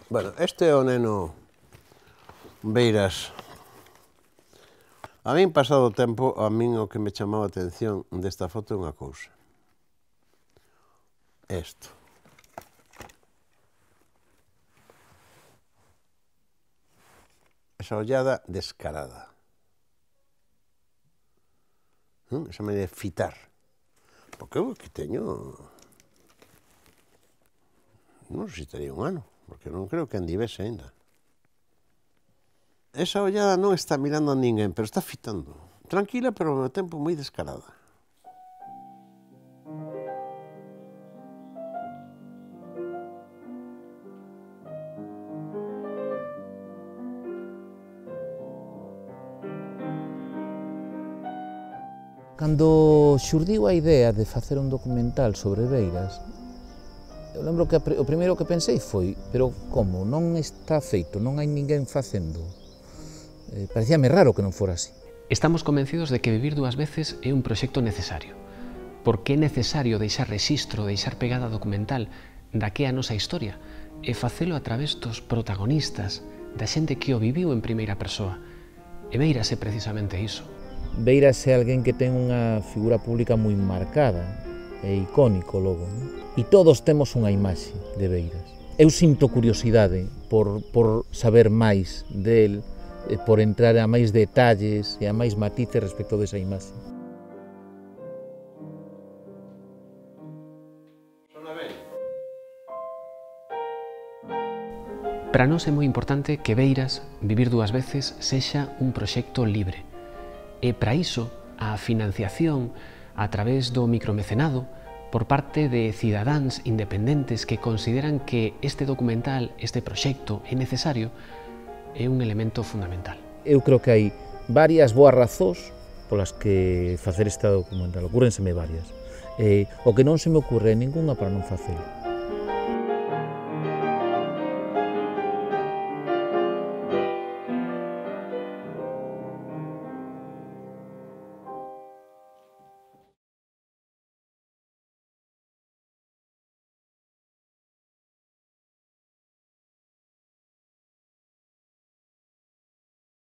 Bueno, este é o neno Beiras. A min, pasado o tempo, a min o que me chamaba a atención desta foto é unha cousa. Isto. Esa ollada descarada. Esa maneira de fitar. Porque eu que teño... Non sei se tería un ano, porque non creo que andivese ainda. Esa ollada non está mirando a ninguén, pero está fitando. Tranquila, pero ao mesmo tempo moi descarada. Cando xurdiu a idea de facer un documental sobre Beiras, eu lembro que o primeiro que pensei foi, pero como, non está feito, non hai ninguén facendo. Parecíame raro que non fora así. Estamos convencidos de que Vivir dúas veces é un proxecto necesario, porque é necesario deixar rexistro, deixar pegada documental da que é a nosa historia e facelo a través dos protagonistas, da xente que o viviu en primeira persoa. E Beiras é precisamente iso. Beiras é alguén que ten unha figura pública moi marcada, é icónico logo, non? E todos temos unha imaxe de Beiras. Eu sinto curiosidade por saber máis del, por entrar a máis detalles e a máis matices respecto desa imaxe. Para nós é moi importante que Beiras, Vivir dúas veces, sexa un proxecto libre. E para iso, a financiación a través do micromecenado por parte de cidadáns independentes que consideran que este documental, este proxecto é necesario, é un elemento fundamental. Eu creo que hai varias boas razóns polas que facer este documental, ocúrrenseme varias. O que non se me ocurre é ningunha para non facelo.